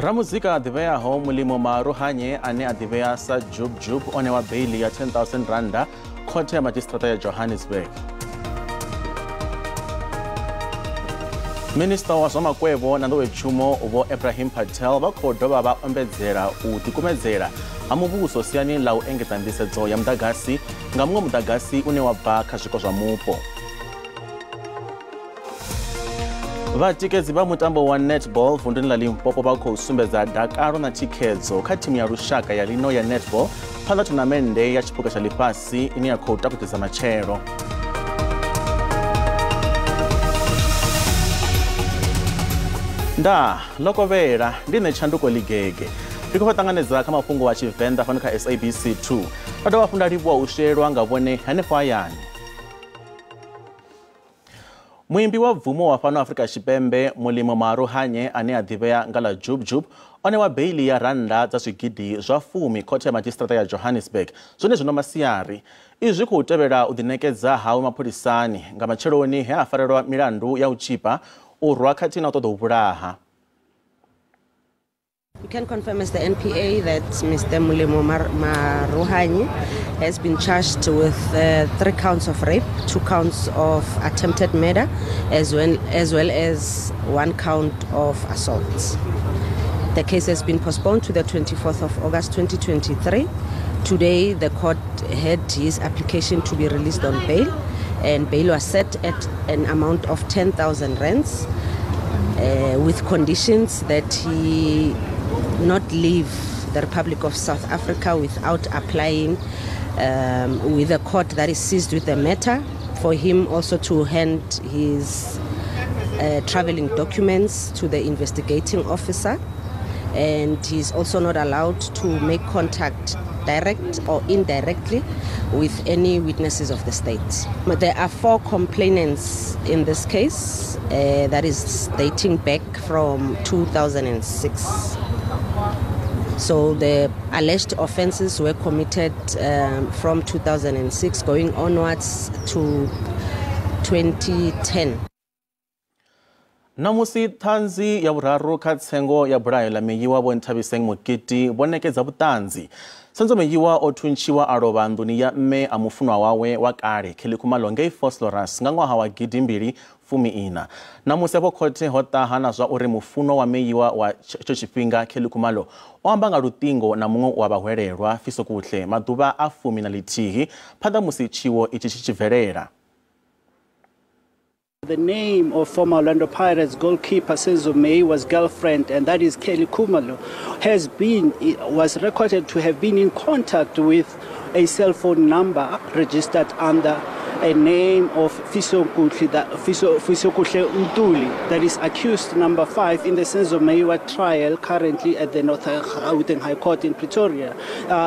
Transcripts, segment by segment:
Ramuzika a ḓivheaho Molemo Maarohanye ane a ḓivhea sa Jub Jub o ṋewa beili ya 10,000 randa khothe ya madzhisiṱiraṱa ya Johannesburg. Minista wa zwa makwevho na nḓowetshumo Vho Ebrahim Patel vha khou dovha vha ombedzela u ḓikumedzela ha muvhuso siani ḽa u engedza nḓisedzo ya muḓagasi nga muṅwe muḓagasi une wa bva kha zwiko zwa mupo. Vhatikedzi vha mutambo wa netball vunduni ḽa Limpopo vha khou sumbedza dakalo na thikhedzo kha thimu ya lushaka ya lino ya netball phanḓa thonamennde ya tshiphuga tsha ḽifhasi ine ya khou takutedza matshelo. Nda lokovhela ndi nṋe Tshanduko Ligege. Ndi khou ṱanganedza kha mafhungo a Tshivenḓa fhano kha SABC 2. Vha dovha hafhu nda livhuwa u shelwa nga vhone hanefho hayani. Muimbi wa bvumo wa fhano Afrika Tshipembe Molemo Maarohanye ane a ḓivhea nga ḽa Jub Jub o ṋewa beili ya rannda dza zwigidi zwa 10 khothe ya madzhisiṱiraṱa ya Johannesburg zwone zwino masiari. Izwi zwi khou tevhela u ḓiṋekedza hawe mapholisani nga matsheloni he a farelwa milandu ya u tshipa, u rwa khathihi na u ṱoḓa u vhulaha. We can confirm as the NPA that Mr. Molemo Maarohanye has been charged with 3 counts of rape, 2 counts of attempted murder, as well as 1 count of assault. The case has been postponed to the 24th of August 2023. Today, the court had his application to be released on bail, and bail was set at an amount of 10,000 rands, with conditions that he not leave the Republic of South Africa without applying with a court that is seized with the matter, for him also to hand his traveling documents to the investigating officer, and he's also not allowed to make contact direct or indirectly with any witnesses of the state. There are 4 complainants in this case that is dating back from 2006. So the alleged offenses were committed from 2006 going onwards to 2010. Namusi ṱhanzi ya vhuraru kha tsengo ya bulayo ḽa Meyiwa Vho Nthabiseng Mokete vho ṋekedza vhuṱanzi. Senzo Meyiwa o thuntshiwa a lovha nḓuni ya mme a mufunwa wawe wa kale Kelly Khumalo ngei Vosloorus nga ṅwaha wa 2014. Namusi afho khothe ho ṱaha na zwa uri mufunwa wa Meyiwa wa tsho tshifhinga Kelly Khumalo o amba nga luṱingo na muṅwe wa vhahwelelwa Fisokuhle maḓuvha a 11 phanḓa musi tshiwo itshi tshi tshi bvelela. The name of former Orlando Pirates goalkeeper Senzo Meyiwa's girlfriend, and that is Kelly Khumalo, was recorded to have been in contact with a cell phone number registered under a name of Fisokuhle Ntuli, that is accused number 5 in the Senzo Meyiwa trial currently at the North Gauteng High Court in Pretoria.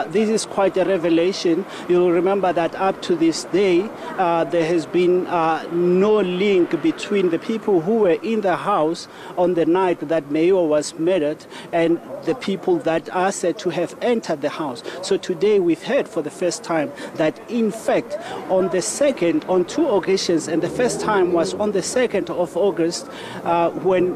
This is quite a revelation. You'll remember that up to this day, there has been no link between the people who were in the house on the night that Meyiwa was murdered and the people that are said to have entered the house. So today we've heard for the first time that in fact on the second, on 2 occasions, and the first time was on the 2nd of August when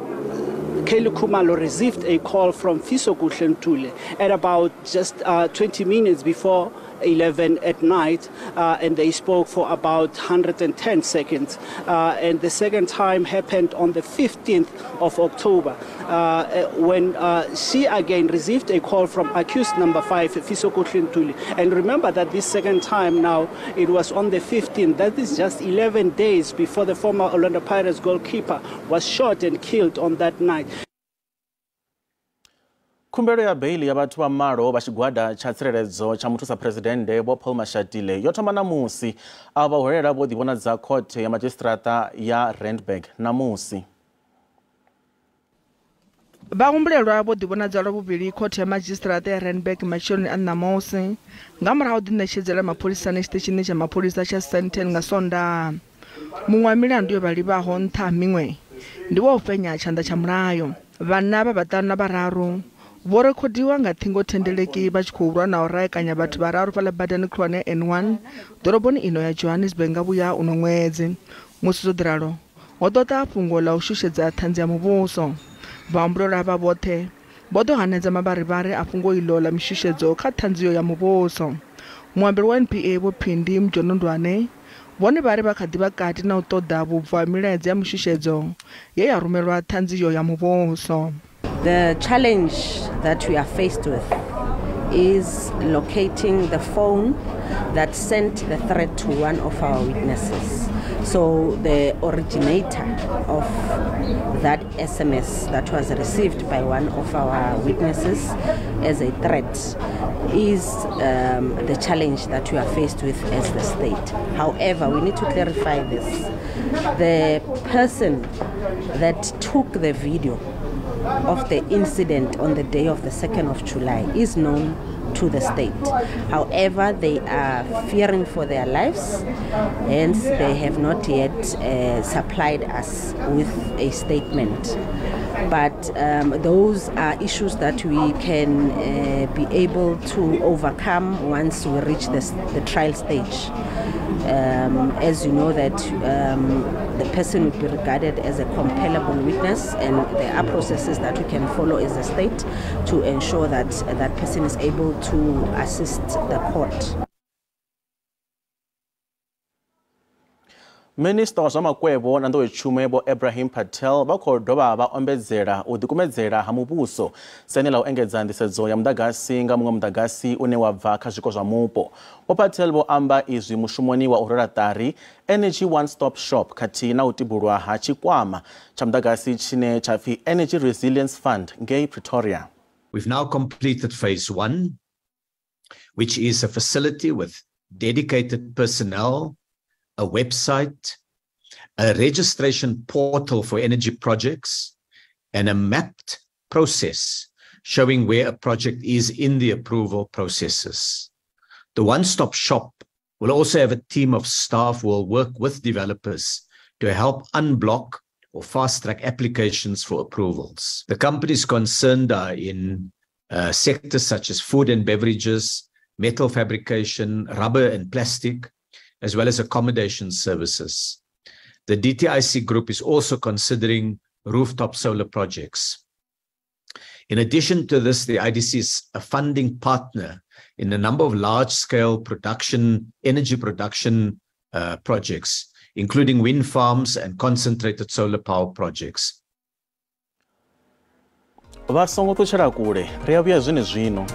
Kelly Khumalo received a call from Fisokuhle Ntuli at about just 20 minutes before 11 at night, and they spoke for about 110 seconds. And the second time happened on the 15th of October, when she again received a call from accused number 5, Fisokuhle Ntuli. And remember that this second time now, it was on the 15th. That is just 11 days before the former Orlando Pirates goalkeeper was shot and killed on that night. Khumbelo ya beili ya vhathu vha malo vha tshigwada tsha tsireledzo tsha muthusa presidennde Vho Paul Mashatile yo thoma namusi. Avha vhahwelela vho ḓivhonadza khothe ya madzhisiṱiraṱa ya Randburg namusi. Vhahumbulelwa vho ḓivhonadza lwa vhuvhili khothe ya madzhisiṱiraṱa ya Randburg matsheloni a ṋamusi nga murahu ḓiṋetshedzela mapholisani tshiṱitshini tsha mapholisa tsha Sandton nga Sondaha. Muṅwe wa milandu yo vha livhaho nṱha ha miṅwe ndi wa u fhenya tshanḓa tsha mulayo. Vhanna vha vhaṱanu na vhararu vho rekhodiwa nga ṱhingothendeleki vha tshi khou lwa na u raekanya vhathu vhararu fhaḽa badani khulwane ya N1 ḓoroboni ino ya Johannesburg nga vhuya uno ṅwedzi. Musi zwo ḓi ralo, ho ḓo ṱaha fhungo ḽa u shushedza ṱhanzi ya muvhuso. Vhahumbulelwa avha vhoṱhe Vho ḓo hanedza mavharivhari a fhungo iḽo ḽa mishushedzo kha ṱhanziyo ya muvhuso. Muambeli wa NPA Vho Phindi Mjonondwane vhone vha ri vha kha ḓi vha kati na u ṱoḓa vhubvo ha milaedza ya mishushedzo ye ya rumelwa ṱhanziyo ya muvhuso. The challenge that we are faced with is locating the phone that sent the threat to one of our witnesses. So the originator of that SMS that was received by one of our witnesses as a threat is the challenge that we are faced with as the state. However, we need to clarify this. The person that took the video of the incident on the day of the 2nd of July is known to the state. However, they are fearing for their lives, hence they have not yet supplied us with a statement. But those are issues that we can be able to overcome once we reach the trial stage. As you know that the person would be regarded as a compellable witness, and there are processes that we can follow as a state to ensure that that person is able to assist the court. Minister wa zwa makwevho na nḓowetshumo Vho Ebrahim Patel vha khou dovha vha ombedzela u ḓikumedzela ha muvhuso sene ḽa u engedza nḓisedzo ya muḓagasi nga muṅwe muḓagasi une wa bva kha zwiko zwa mupo. Vho Patel vho amba izwi mushumoni wa u rwela ṱari Energy One Stop Shop khathihi na u tibulwa ha tshikwama tsha muḓagasi tshine tsha pfi Energy Resilience Fund ngei Pretoria. We've now completed phase 1, which is a facility with dedicated personnel, a website, a registration portal for energy projects, and a mapped process showing where a project is in the approval processes. The one-stop shop will also have a team of staff who will work with developers to help unblock or fast-track applications for approvals. The companies concerned are in sectors such as food and beverages, metal fabrication, rubber and plastic, as well as accommodation services. The DTIC group is also considering rooftop solar projects. In addition to this, the IDC is a funding partner in a number of large-scale energy production projects, including wind farms and concentrated solar power projects. Vha songo ṱutshela kule, ri a vhuya zwenezwino.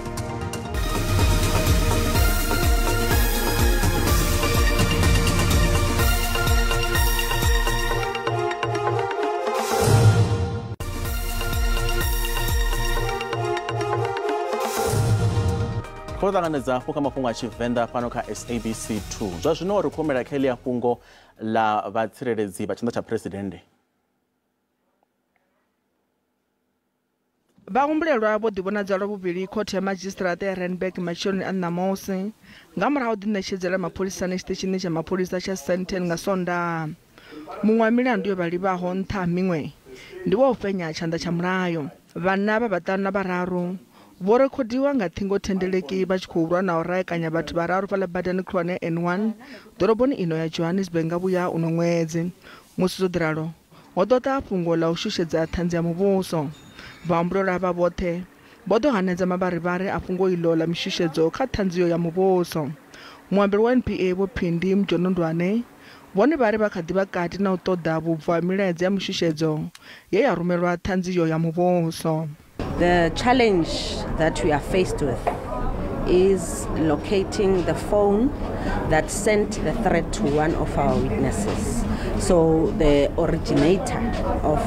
Khou ṱanganedza hafhu kha mafhungo a Tshivenḓa fhano kha SABC 2. Zwa zwino ri khou humela kha heḽia fhungo ḽa vhatsireledzi vha tshanḓa tsha phuresidennde. Vhahumbulelwa vho ḓivhonadza lwa vhuvhili khothe ya madzhisiṱiraṱa ya Randburg matsheloni a ṋamusi nga murahu ha u ḓiṋetshedzela mapholisani tshiṱitshini tsha mapholisa tsha Sandton nga Sondaha. Muṅwe wa milandu yo vha livhaho nṱha ha miṅwe ndi wa u fhenya tshanḓa tsha mulayo. Vhanna vha vhaṱanu na vhararu vho rekhodiwa nga ṱhingothendeleki vha tshi khou lwa na u raekanya vhathu vhararu fhaḽa badani khulwane N1 ḓoroboni ino ya Johannesburg nga vhuya uno ṅwedzi. Musi zwo ḓiralo ho ḓo ṱaha fhungo ḽa u shushedza ṱhanzi ya muvhuso. Vhahumbulelwa avha vhoṱhe vho ḓo hanedza mavharivhari a fhungo iḽo ḽa mishushedzo kha ṱhanziyo ya muvhuso. Muambeli wa NPA Vho Phindi Mjonondwane vhone vha ri vha kha ḓi vha kati na u ṱoḓa vhubvo ha milaedza ya mishushedzo ye ya rumelwa ṱhanziyo ya muvhuso. The challenge that we are faced with is locating the phone that sent the threat to one of our witnesses. So the originator of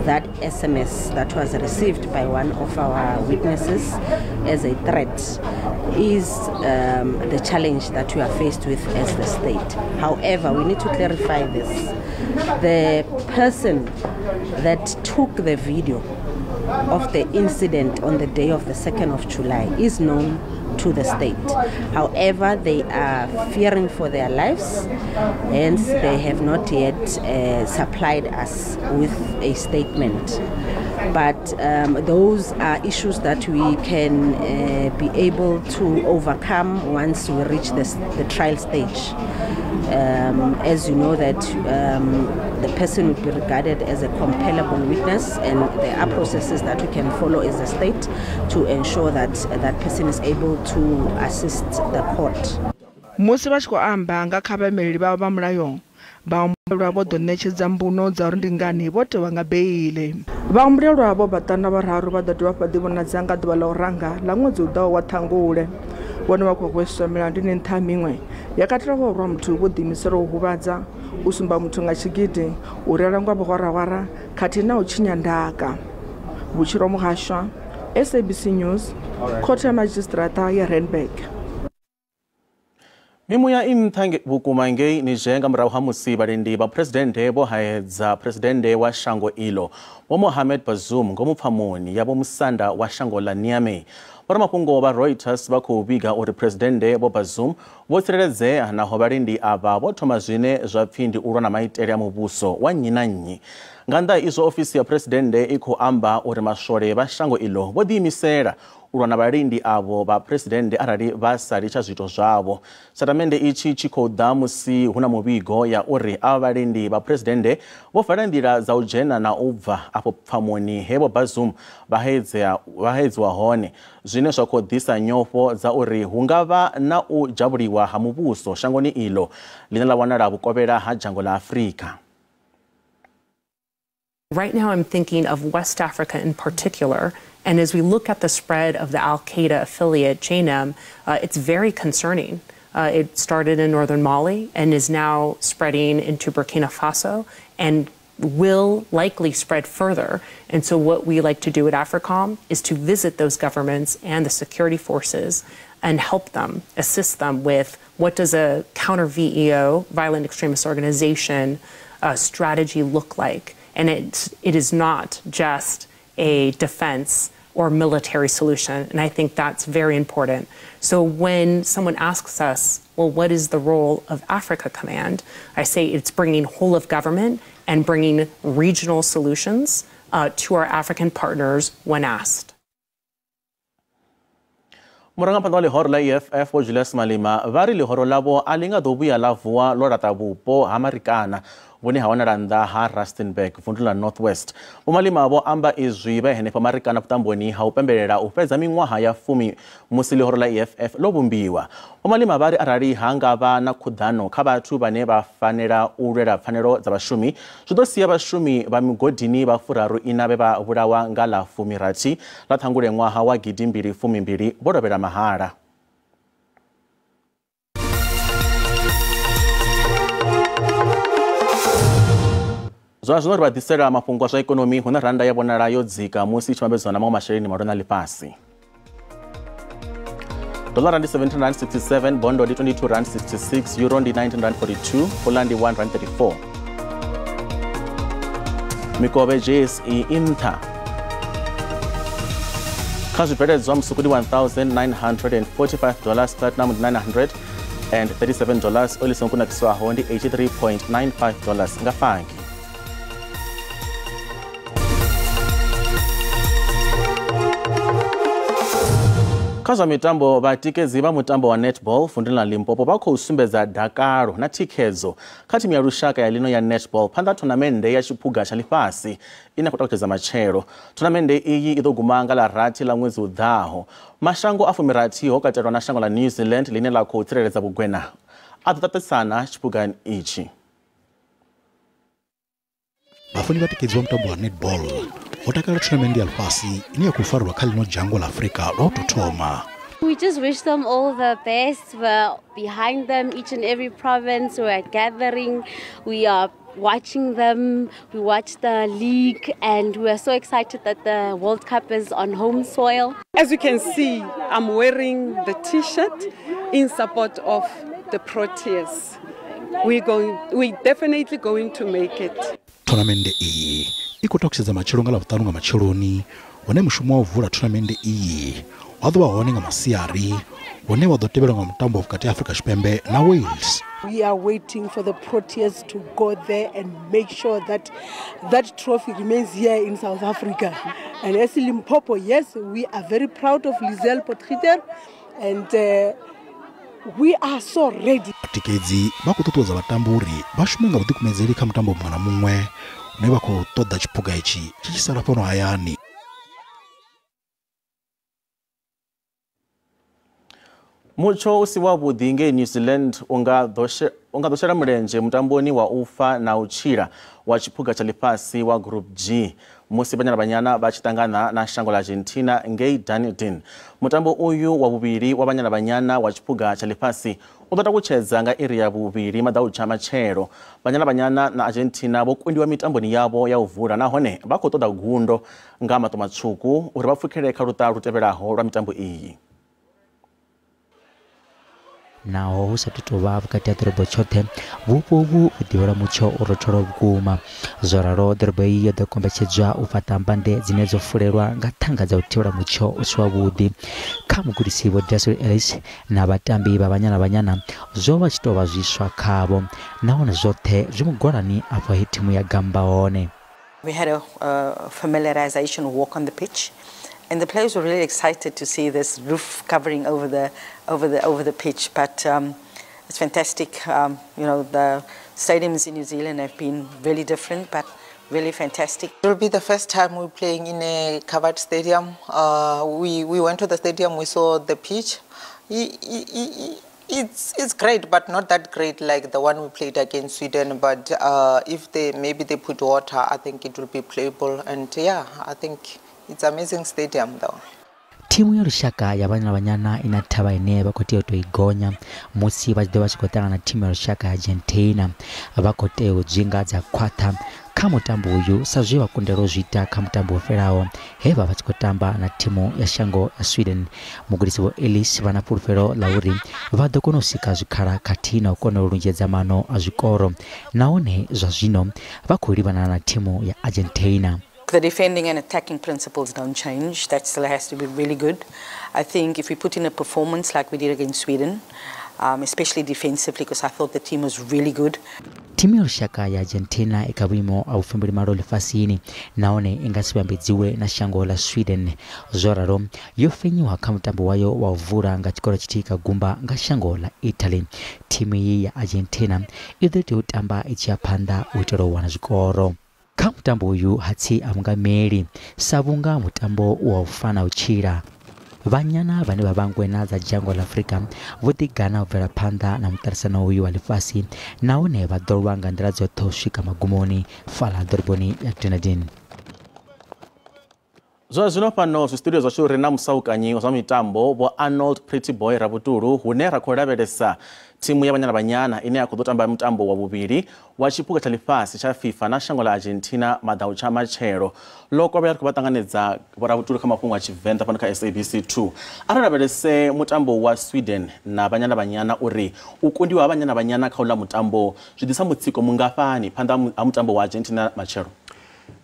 that SMS that was received by one of our witnesses as a threat is the challenge that we are faced with as the state. However, we need to clarify this. The person that took the video of the incident on the day of the 2nd of July is known to the state. However, they are fearing for their lives, hence they have not yet supplied us with a statement. But those are issues that we can be able to overcome once we reach the trial stage. As you know that the person would be regarded as a compellable witness, and there are processes that we can follow as a state to ensure that that person is able to assist the court. Musi vha tshi khou amba nga kha vhaimeleli vhavho vha mulayo, vhahumbulelwa vho ḓo ṋetshedza mbuno dza uri ndi ngani vho tewa nga beiḽi. Vhahumbulelwa vho vhaṱanu vhararu vha ḓo dovha vha ḓivhonadza nga ḓuvha ḽa u ranga ḽa ṅwedzi u ḓaho wa Ṱhangule. Vhone vha khou hweswa milandu ine nṱha miṅwe ya katela u rwa muthu vho ḓiimisela u huvhadza, u sumba muthu nga tshigidi, u reila nga vhuhwarahwara khathihi na u tshinya ndaka. Vhutshilo Muhashwa, SABC News, Khothe ya Madzhisiṱiraṱa ya Randburg. Mimuya i nṱha vhukuma ngei Niger nga murahu ha musi vhalindi vha phuresidennde vho haedza phuresidennde wa shango ilo Vho Mohamed Bazoum ngomu pfamoni ya vho musanda wa shango ḽa Niamey. Vhoramafhungo vha Reuters vha khou vhiga uri phuresidennde Vho Bazoum vho tsireledzea naho vhalindi avha vho thoma zwine zwa pfi ndi u lwa na maitele a muvhuso wa nnyi na nnyi. Nga nnḓa izwo ofisi ya phuresidennde i khou amba uri maswole vha shango ilo vho ḓiimisela u lwa na vhalindi avho vha phuresidennde arali vha sa litsha zwiito zwavho. Tshatamennde itshi tshi khou ḓa musi hu na muvhigo ya uri avha vhalindi vha phuresidennde vho vala nḓila dza u dzhena na u bva afho pfamoni he Vho Bazoum vha haedziwa hone, zwine zwa khou ḓisa nyofho dza uri hu nga vha na u dzhavhuliwa ha muvhuso shangoni ilo ḽine ḽa wanala vhukovhela ha dzhango ḽa Afrika. Right now I'm thinking of West Africa in particular, and as we look at the spread of the Al-Qaeda affiliate, JNIM, it's very concerning. It started in northern Mali and is now spreading into Burkina Faso and will likely spread further. And so what we like to do at AFRICOM is to visit those governments and the security forces and help them, assist them with what does a counter VEO, violent extremist organization, strategy look like. And it is not just a defense or military solution. And I think that's very important. So when someone asks us, well, what is the role of Africa Command? I say it's bringing whole of government and bringing regional solutions to our African partners when asked. Murangaphanḓa wa ḽihoro ḽa EFF Vho Julius Malema vha ri ḽihoro ḽavho a ḽi nga ḓo vhuya ḽa vuwa ḽo laṱa vhupo ha Marikana vhune ha wanala nnḓa ha Rustenburg vundu ḽa North West. Vho Malema vho amba izwi vhe henefha Marikana vhuṱamboni ha u pembelela u fhedza miṅwaha ya 10 musi ḽihoro ḽa EFF ḽo vhumbiwa. Vho Malema vha ri arali ha nga vha na khuḓano kha vhathu vhane vha fanela u lwela pfanelo dza vhashumi, zwi ḓo sia vhashumi vha migodini vha 34 vhe vha vhulawa nga ḽa 16 ḽa Ṱhangule ṅwaha wa 2022 vho lovhela mahala. Zwa zwino ri vha ḓisela mafhungo a zwa ikonomi hune randa ya vhonala yo dzika musi i tshi vhambedzwa na maṅwe masheleni malwana a ḽifhasi. Dollar ndi R17.67, bondo ndi R22.66, euro ndi R19.42, pula ndi R1.34. Mikovhe JSE i nṱha kha zwibveledzwa musuku ndi $1,945, platinum ndi $937, oli songo kunakiswaho ndi $83.95 nga fangi. Kha zwa mitambo, vhatikedzi vha mutambo wa netball vunduni ḽa Limpopo vha khou sumbedza dakalo na thikhedzo kha thimu ya lushaka ya lino ya netball phanḓa thonamennde ya tshiphuga tsha ḽifhasi ine khou takutshedza matshelo. Thonamennde iyi i ḓo guma nga ḽa 6 ḽa ṅwedzi u ḓaho. Mashango a 16 ho katelwa na shango ḽa New Zealand ḽine ḽa khou tsireledza vhugwena a ḓo ṱaṱisana tshiphugani itshi. Vhafuni vhatikedzi vha mutambo wa netball vho takalela thonamennde ya ḽifhasi ine ya khou farelwa kha ḽino dzhango ḽa Afrika lwa u tou thoma. We just wish them all the best. We're behind them, each and every province. We are gathering, we are watching them, we watch the league, and we are so excited that the World Cup is on home soil. As you can see, I'm wearing the t-shirt in support of the Proteas. We're definitely going to make it. Thonamennde iyi i khou takutshedza matshelo nga ḽavhuṱanu nga matsheloni, hune mushumo wa u vula thonamennde iyi wa ḓo vha hone nga masiari, hune wa ḓo tevhelwa nga mutambo vhukati ha Afrika Tshipembe na Wales. We are waiting for the Proteas to go there and make sure that that trophy remains here in South Africa. And as Limpopo, yes, we are very proud of Lizelle Potgieter, and we are so ready. Vhatikedzi vha khou ṱuṱuwedza vhatambi uri vha shume nga vhuḓikumedzeli kha mutambo muṅwe na muṅwe une vha khou ṱoḓa tshiphuga itshi tshi tshi sala fhano hayani. Mutsho u si wavhuḓi ngei New Zealand u nga ḓo shela mulenzhe mutamboni wa u fa na u tshila wa tshiphuga tsha ḽifhasi wa Group G musi Banyana Banyana vha tshi ṱangana na shango ḽa Argentina ngei Dunedin. Mutambo uyu wa vhuvhili wa Banyana Banyana wa tshiphuga tsha ḽifhasi u ḓo takutshedza nga iri ya 2 maḓautsha matshelo. Banyana Banyana na Argentina vho kundiwa mitamboni yavho ya u vula nahone vha khou ṱoḓa gundo nga maṱo matswuku uri vha pfukele kha luṱa lu tevhelaho lwa mitambo iyi. Naho hu sa tou vha vhukati ha ḓorobo tshoṱhe, vhupo uvhu vhu ḓivhelwa mutsho u rothola vhukuma. Zwo ralo, ḓorobo iyi yo ḓo kombetshedzwa u fhaṱa mbande dzine dzo fulelwa nga ṱhanga dza u thivhela mutsho u si wavhuḓi. Kha mugudisi Vho Daswell Ellis na vhatambi vha Banyana Banyana zwo vha tshi tou vha zwiswa khavho, nahone zwoṱhe zwi mugwalani afho he thimu ya gamba hone. We had a familiarization walk on the pitch. And the players were really excited to see this roof covering over the pitch. But it's fantastic. You know, the stadiums in New Zealand have been really different, but really fantastic. It will be the first time we're playing in a covered stadium. We went to the stadium, we saw the pitch. It's great, but not that great like the one we played against Sweden. But if they maybe they put water, I think it will be playable. And yeah, I think it's amazing stadium though. Thimu ya lushaka ya Banyana Banyana ina thavha ine vha khou tea u tou i gonya musi vha tshi ḓo vha tshi khou ṱangana na thimu ya lushaka ya Argentina. Vha khou tea u dzwinga dza khwaṱha kha mutambo uyu sa zwe vha kundelwa u zwi ita kha mutambo wo fhelaho he vha vha tshi khou tamba na thimu ya shango ya Sweden. Mugudisi Vho Ellis vha na fhulufhelo ḽa uri vha ḓo kona u sika zwikhala khathihi na u kona u lunzhedza mano a zwikoro, nahone zwa zwino vha khou livhana na thimu ya Argentina. The defending and attacking principles don't change. That still has to be really good. I think if we put in a performance like we did against Sweden, especially defensively, because I thought the team was really good. Thimu ya lushaka ya Argentina i kha vhuimo ha vhufumbili ḽifhasini nahone i nga si vhambedziwe na shango ḽa Sweden. Zwo ralo, yo fenyiwa kha mutambo wayo wa u vula nga tshikoro tshithihi kha gumba nga shango ḽa Italy. Thimu iyi ya Argentina i ḓo tea u tamba i tshi ya phanḓa u itela u wana zwikoro. Kha mutambo uyu hatsi a vhungameli sa vhunga mutambo wa u fana u tshila. Vhanyana vhane vha vhangwena dza dzhango ḽa Afrika vho ḓigana u bvela phanḓa na muṱaṱisano uyu wa ḽifhasi nahone vha ḓo lwa nga nḓila dzoṱhe u swika magumoni fhaḽa ḓoroboni ya Dunedin. Zwa zwino fhano zwi studio zwashu ri na musaukanyi wa zwa mitambo Vho Arnold Pretty Boy Rabutulu, hune ra khou lavhelesa thimu ya Banyana Banyana ine ya khou ḓo tamba mutambo wa vhuvhili wa tshiphuga tsha ḽifhasi tsha FIFA na shango ḽa Argentina maḓautsha matshelo. Ḽo kovhela ri khou vha ṱanganedza Vho Rabutulu kha mafhungo a Tshivenḓa fhano kha SABC 2. Arali lavhelese mutambo wa Sweden na Banyana Banyana uri u kundiwa ha Banyana Banyana kha uḽa mutambo zwi ḓisa mutsiko mungafhani phanḓa ha mutambo wa Argentina matshelo?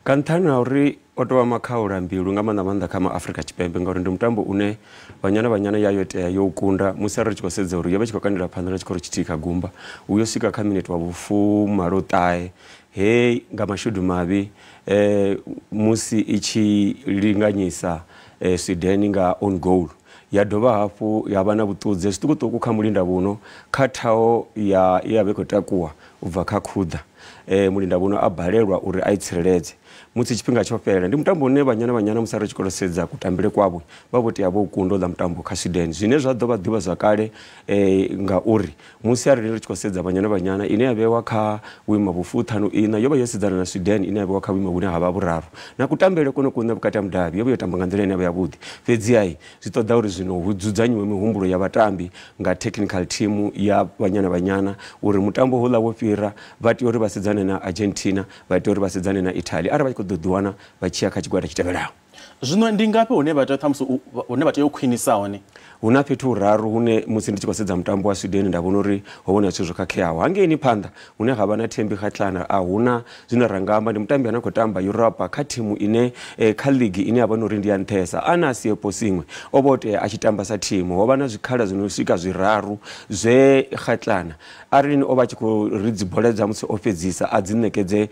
Nga nṱhani ha uri o tou vha makhaula mbilu nga maanḓa maanḓa kha maAfrika Tshipembe, ngauri ndi mutambo une Banyana Banyana ya yo tea yo kunda musi ri tshi khou sedza uri yo vha tshi khou kandela phanḓa na tshikoro tshithihi kha gumba, u yo swika kha minete wa vhu-89 he nga mashudu mavhi musi i tshi linganyisa Sweden nga on goal, ya dovha hafhu ya vha na vhuṱudze zwiṱukuṱuku kha mulinda vhuno kha thaho ya ya vha khou takuwa u bva kha khuḓa, mulinda vhuno a balelwa uri a i tsireledze musi tshifhinga tsho fhela. Ndi mutambo une Banyana Banyana musi ri tshi khou sedza kutambele kwavho vha vho tea vho kunda uḽa mutambo kha Sweden, zwine zwa ḓo vha ḓivha zwakale ngauri musi arali ri tshi khou sedza Banyana Banyana ine ya vhewa kha vhuimo vhu-54 yo vha yo sedzana na Sweden ine ya vhewa kha vhuimo vhune ha vha vhuraru, na kutambele kone kuṋe vhukati ha mudavhi yo vha yo tamba nga nḓila ine ya vha yavhuḓi. Fhedzi ai zwi ṱoḓa uri zwino hu dzudzanyiwe mihumbulo ya vhatambi nga technical team ya Banyana Banyana uri mutambo houḽa wo fhira vha tea uri vha sedzane na Argentina, vha tea uri vha sedzane na Italy arali vha tshi khou ḓo ḓiwana vha tshi ya kha tshigwada tshi tevhelaho. Zwino ndi ngafhi hune vha tea ṱhamusi hune vha tea u khwinisa hone? Hu na fhethu huraru hune musi ndi tshi khou sedza mutambo wa Sweden nda vhona uri ho vhona zwithu zwo khakheaho. Hangeini phanḓa hune ha vha na Thembi Kgatlana a huna zwine ra nga amba, ndi mutambi ane a khou tamba Europa kha thimu ine kha league ine ya vha uri ndi ya nṱhesa. Ana Siepo Singwe o vha o tea a tshi tamba sa thimu, ho vha na zwikhala zwino swika zwiraru zwe Kgatlana arali o vha tshi khou ri dzi bola dza musi o fhedzisa a dzi ṋekedze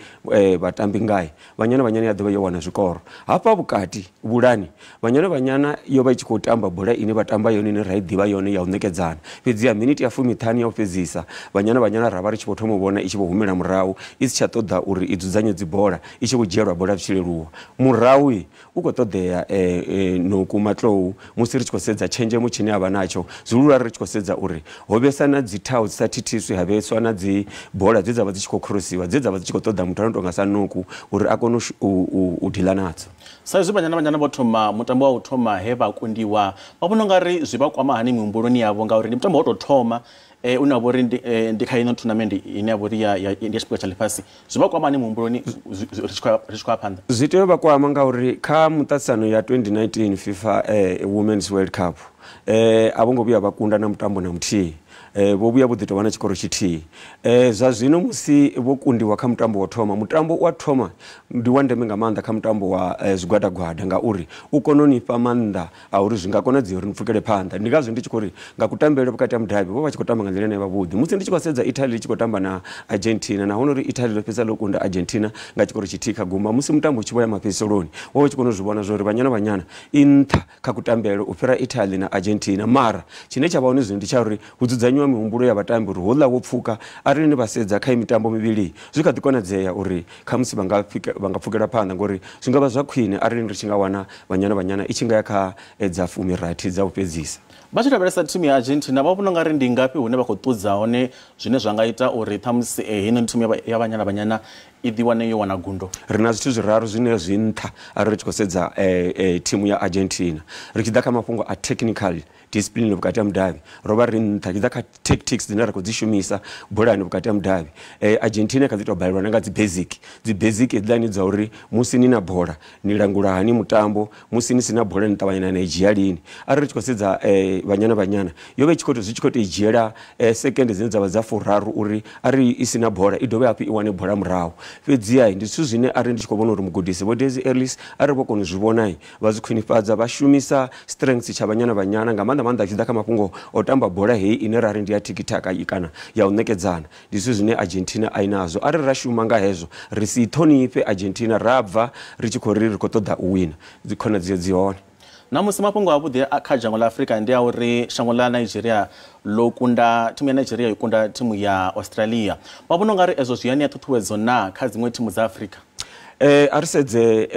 vhatambi ngae, Banyana Banyana ya ḓovha yo wana zwikoro. Hafha vhukati vhulani Banyana Banyana yo vha i tshi khou tamba bola ine vha tamba yone ine ra i ḓivha yone ya u ṋekedzana, fhedzi ya miniti ya 15 ya u fhedzisa Banyana Banyana ra vha ri tshi vho thoma u vhona i tshi vho humela murahu, i si tsha ṱoḓa uri i dzudzanye dzi bola, i tshi vho dzhielwa bola zwi tshi leluwa. Murahu u khou ṱoḓea Noku Matlou musi ri tshi khou sedza tshenzhemo tshine a vha natsho, zwihulu ri tshi khou sedza uri ho vhesa na dzi thau dzi sa thithiswi, ha vheswa na dzi bola dze dza vha dzi tshi khou khorosiwa, dze dza vha dzi tshi khou ṱoḓa muthu ano tonga sa Noku uri a kone u dila nadzo. Sa izwi Banyana Banyana vho thoma mutambo wa u thoma he vha kundiwa, vha vhona ungari zwi vha kwama hani mihumbuloni yavho, ngauri ndi mutambo wa u tou thoma une wa vha uri ndi kha ino tournament ine ya vha uri ndi ya tshiphuga tsha ḽifhasi, zwi vha kwama hani muhumbuloni ri tshi khou ya phanḓa? Zwi tea u vha kwama ngauri kha muṱaṱisano ya 2019 FIFA Women's World Cup a vho ngo vhuya vha kunda na mutambo na muthihi. Vho vhuya vho ḓi tovha na tshikoro tshithihi. Zwa zwino musi vho kundiwa kha mutambo wa thoma, mutambo wa thoma ndi wa ndeme nga maanḓa kha mutambo wa zwigwadagwada ngauri u kona u ni fha maanḓa a uri zwi nga konadzea uri ni pfukele phanḓa. Ndi ngazwo ndi tshi khou ri nga kutambele vhukati ha mudavhi vho vha tshi khou tamba nga nḓila ine ya vha vhuḓi. Musi ndi tshi khou sedza Italy i tshi khou tamba na Argentina, nahone uri Italy ḽo fhedza ḽo kunda Argentina nga tshikoro tshithihi kha gumba, musi mutambo u tshi vho ya mafhedziseloni wo vha u tshi kona u zwi vhona zwa uri Banyana Banyana i nṱha kha kutambele u fhira Italy na Argentina. Mara tshine tsha vha hone zwino ndi tsha uri hu dzudzanyiwa mihumbulo ya vhatambi uri houḽa wo pfuka, arali ni vha sedza kha mitambo mivhili zwi kha ḓi konadzea uri khamusi vha nga pfukela phanḓa, ngori zwi nga vha zwa khwine arali ri tshi nga wana Banyana Banyana i tshi nga ya kha dza 16 dza u fhedzisa. Vha tshi lavhelesa thimu ya Argentina vha vhona ungari ndi ngafhi hune vha khou ṱudza hone zwine zwa nga ita uri ṱhamusi heino thimu ya Banyana Banyana i ḓiwane yo wana gundo? Ri na zwithu zwiraru zwine zwi nṱha arali ri tshi khou sedza thimu ya Argentina. Ri tshi ḓa kha mafhungo a technical discipline vhukati ha mudavhi ro vha ri nṱha, tshi ḓa kha tactics dzine ra khou dzi shumisa bolani vhukati ha mudavhi Argentina kha ḓi tou balelwa na nga dzi basic hedziḽani dza uri musi ni na bola ni langula hani mutambo, musi ni si na bola ni ṱavhanya na i dzhia lini. Arali ri tshi khou sedza Banyana Banyana yo vha i tshi khou zwi tshi khou tou i dzhiela sekende dzine dza vha dza 30 uri arali i si na bola i dovhe hafhu i wane bola murahu. Fhedziha ndi zwithu zwine arali ndi tshi khou vhona uri mugudisi Vho Desi Ellis arali vho kona u zwi vhona vha zwi khwinifhadza, vha shumisa strengths tsha Banyana Banyana nga maanḓa maanḓa tshi ḓa kha mafhungo o tamba bola heyi ine ra ri ndi ya tiki-taka kana ya u ṋekedzana, ndi zwithu zwine Argentina a i nazwo. Arali ra shuma nga hezwo ri si ṱhonifhe Argentina ra bva ri tshi khou ri ri khou ṱoḓa u wina, dzi khonadzeo dzi hone. Namusi mafhungo avhuḓi kha dzhango ḽa Afrika ndi a uri shango ḽa Nigeria ḽo kunda thimu ya Nigeria yo kunda thimu ya Australia. Vha vhona ungari ezwo zwi ya ṋea ṱhuṱhuwedzo na kha dziṅwe thimu dza Afrika? A ri sedze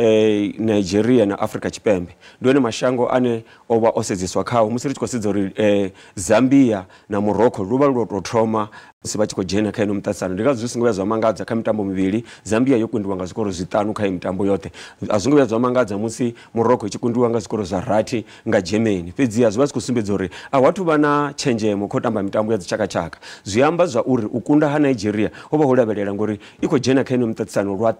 Nigeria na Afrika Tshipembe, ndi one mashango ane o vha o sedzeswa khao musi ri tshi khou sedza uri Zambia na Morocco lu vha lu tou thoma musi vha tshi khou dzhena kha ino muṱaṱisano. Ndi ngazwo zwi songo vhuya zwa mangadza kha mitambo mivhili Zambia yo kundiwa nga zwikoro 5 kha mitambo yoṱhe. A zwi ngo vhuya zwa mangadza musi Morocco i tshi kundiwa nga zwikoro zwa 6 nga Germany. Fhedziha zwi vha zwi khou sumbedza uri a hu athu vha na tshenzhemo kha u tamba mitambo ya dzitshakatshaka. Zwi amba zwa uri u kunda ha Nigeria ho vha ho lavhelela ngori i khou dzhena kha ino muṱaṱisano lwa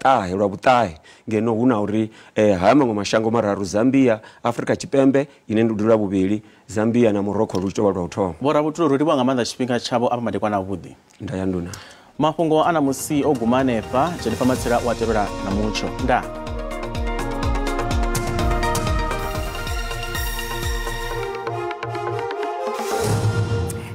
vhuṱahe, ngeno hu na uri haya maṅwe mashango mararu Zambia, Afrika Tshipembe ine ndi lwa vhuvhili, Zambia na Morocco lu tshi tou vha lwa u thoma. Vho Rabutulu, ro livhuwa nga maanḓa tshifhinga tshavho afha madekwana avhuḓi. Nda ya nduna. Mafhungo a ṋamusi o guma hanefha. Jennifer Matsila u a tevhela na mutsho. Ndaa.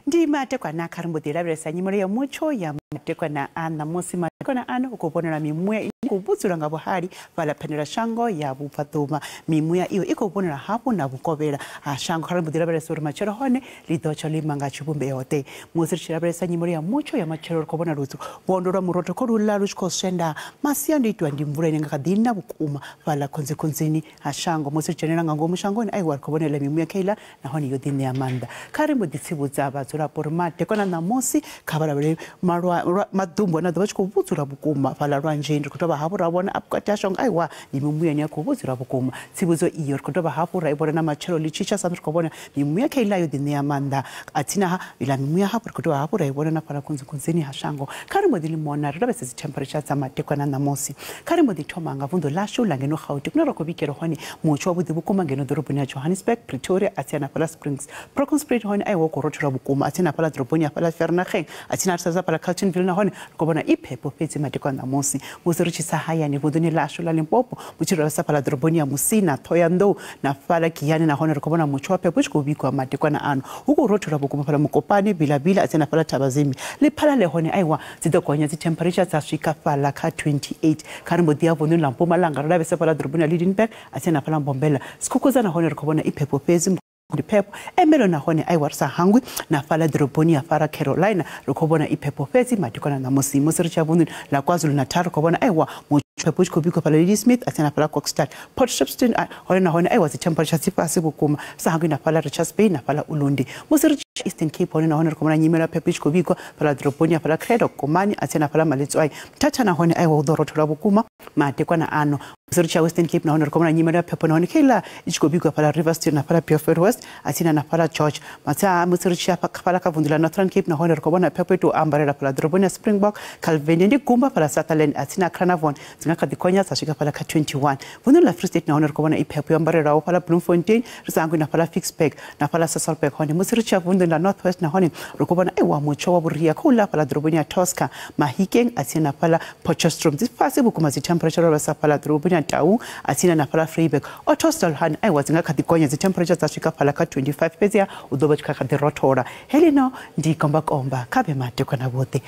Ndi matekwana kha ri mbo ḓi lavhelesa nyimele ya mutsho ya matekwana a ṋamusi. Matekwana ano u khou vhonala mimuya ine khou vhudzula nga vhuhali fhaḽa phendela shango ya vhubvaḓuvha. Mimuya iyo i khou vhonala hafhu na vhukovhela ha shango. Kha ri mbo ḓi lavhelesa uri matshelo hone ḽi ḓo tsha ḽo ima nga tshivhumbeo ḓe. Musi ri tshi lavhelesa nyimele ya mutsho ya matshelo ri khou vhona lutsu vhondo lwa murotho kho luḽa lu tshi khou swenda masiandoitwa ndi mvula ine nga kha ḓi na vhukuma fhaḽa khonzikhonzini ha shango. Musi ri dzhenela nga ngomu shangoni aiwa ri khou vhonela mimuya kheiḽa nahone yo ḓi ṋea maanḓa. Kha ri mbo ḓi tsivhudza vhadzulapo uri madekwana ṋamusi kha vha lavhelele malwa Maḓumbu ane a ḓo vha tshi khou vhudzula vhukuma fhaḽa lwanzheni. Ri khou dovha hafhu ra vhona vhukati ha shango aiwa ndi mimuya ine ya khou vhudzula vhukuma. Tsivhudzo iyo ri khou dovha hafhu ra i vhona na matshelo ḽi tshi tsha sa ri khou vhona mimuya kha iḽa yo ḓi ṋea maanḓa athina ha iḽa mimuya hafhu ri khou dovha hafhu ra i vhona na fhaḽa khunzikhunzini ha shango. Kha ri mbo ḓi limona ri lavhelese dzi temperature dza madekwana ṋamusi. Kha ri mbo ḓi thoma nga vunḓu ḽashu ḽa ngeno Gauteng kune ra khou vhigela hone mutsho wavhuḓi vhukuma ngeno ḓoroboni ya Johannesburg, Pretoria athi na fhaḽa Springs, Bronkhorstspruit hone aiwa khou rothola vhukuma athi na fhaḽa ḓoroboni ya fhaḽa Vereeniging athi na ri sedza fhaḽa Carltonville nahone ri khou vhona i phepho fhedzi madekwana ṋamusi. Musi ri tshi tsa hayani vunḓuni ḽashu ḽa Limpopo mutshi ri lavhelesa fhaḽa ḓoroboni ya Musina, Thohoyandou na fhaḽa Giyani nahone ri khou vhona mutsho wa phepho u tshi khou vhigwa madekwana ano. Hu khou rothola vhukuma fhaḽa Mokopane, Bilabila athi na fhaḽa Thabazimbi. Lephalale hone aiwa dzi ḓo gonya dzi temperature dza swika fhaḽa kha 28. Kha ri mbo ḓi ya vunḓuni ḽa Mpumalanga ri lavhelesa fhaḽa ḓoroboni ya Lydenburg athi na fhaḽa Mbombela. Sikhukhudza nahone ri khou vhona i phepho fhedzi ndi phepho emelo nahone aiwa ri sa hangwi na fhaḽa ḓoroboni ya fara Carolina ri khou vhona i phepho fhedzi madekwana ṋamusi. Musi ri tshi ya vunḓuni ḽa KwaZulu-Natal ri khou vhona aiwa phepho tshi khou bikwa fhaḽa Ladysmith athi na fhaḽa Kokstad, Port Shepstone hone nahone aiwa dzi temperature dzi fhasi vhukuma sa hangwi na fhaḽa Richards Bay na fhaḽa Ulundi. Musi ri tshi Eastern Cape hone nahone ri khou vhona nyimelo ya phepho i tshi khou bikwa fhaḽa ḓoroboni ya fhaḽa Cradock, Komani athi na fhaḽa Maletswai. Mthatha nahone aiwa hu ḓo rothola vhukuma madekwana ano. Musi ri tshi ya Western Cape nahone ri khou vhona nyimelo ya phepho nahone kheiḽa i tshi khou bikwa fhaḽa Riverstone na fhaḽa Beaufort West athina na fhaḽa George. Musi ri tshi ya fhaḽa kha vunḓu ḽa Northern Cape nahone ri khou vhona phepho i tou ambarela fhaḽa ḓoroboni ya Springbok, Calvin ndi gumba fhaḽa Sutherland athina Carnarvon dzi nga kha ḓi gonya dza swika fhaḽa kha 21. Vunḓuni ḽa Free State nahone ri khou vhona i phepho yo ambarelaho fhaḽa Bloemfontein ri sa hangwi na fhaḽa Ficksburg na fhaḽa Sasolburg hone. Musi ri tshi ya vunḓuni ḽa North West nahone ri khou vhona aiwa mutsho wa vhuria khou ḽa fhaḽa ḓoroboni ya Tosca, Mahikeng athina na fhaḽa Potchefstroom dzi fhasi vhukuma dzi temperature ro vhesa fhaḽa ḓoroboni ya Taung athina na fhaḽa Vryburg. Ottosdal hone aiwa dzi nga kha ḓi gonya dzi temperature dza swika fhaḽa kha 25 fhedziha u ḓo vha tshi kha ḓi rothola. Helino ndi kombakomba kha vhe madekwana vhoṱhe.